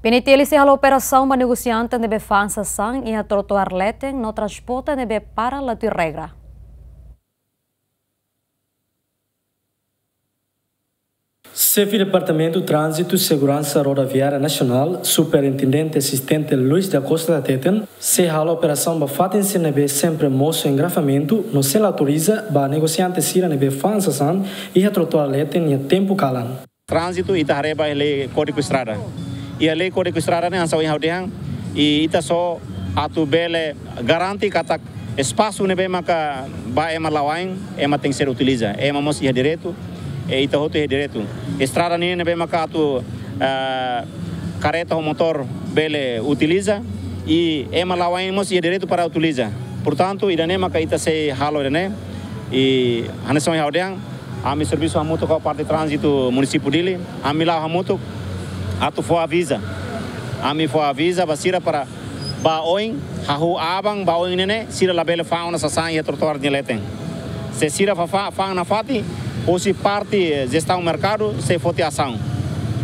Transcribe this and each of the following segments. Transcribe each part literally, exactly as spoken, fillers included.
PNTL sei halo operasaun ba negosiante ne'ebé fa'an sasán iha trotoar leten no transporte ne'ebé para la tuir regra. Xefe Departamentu Tránzitu Seguransa Rodoviária Nasionál, Superintendente Asistente Luis da Costa hateten, sei halo operasaun ba fatin sira ne'ebé sempre mosu engarrafamentu no sei la autoriza ba negosiante sira ne'ebé fa'an sasán iha trotoar leten iha tempu kalan. Tránzitu ita haree ba lei Kódigu Estrada. Iha lei Kódigu Estrada ne'e hanesan ohin ha'u dehan, i ita só atu bele garante katak espasu ne'ebé maka ba ema la'o ain, ema tenke ser utiliza. Ema mós iha direitu, i ita hotu iha direitu. Estrada ne'e ne'ebé maka atu, ah, karreta ho motór bele utiliza, i ema la'o ain mós iha direitu para utiliza. Portantu, ida-ne'e maka ita sei halo ida-ne'e, i hanesan ohin ha'u dehan, ami servisu hamutuk ho parte tránzitu munisípiu Dili, ami la'o hamutuk atu fó aviza. Ami fó aviza ba sira para ba oin, hahú aban ba oin ne'e ne'e, sira labele fa'an ona sasán iha trotoar nia leten. Se sira fa'an, fa'an nafatin, husi parte, eh, jestaun merkadu sei foti asaun.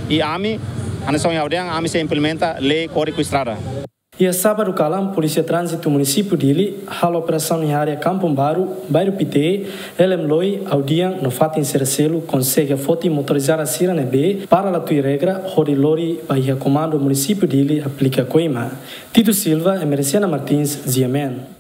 I ami, hanesan ohin ha'u dehan, ami sei implementa lei Kódigu Estrada. Iha sábadu kalan, Polísia Tránzitu Munisípiu Dili halo operasaun iha área Kampung Baru, Bairru Pité, Elem Loi, Audian no fatin sira seluk konsege foti motorizada sira ne'ebé para la tuir regra hodi lori ba iha Komandu Munisípiu Dili aplika koima. Tito Silva, Emericiana Martins, G M N.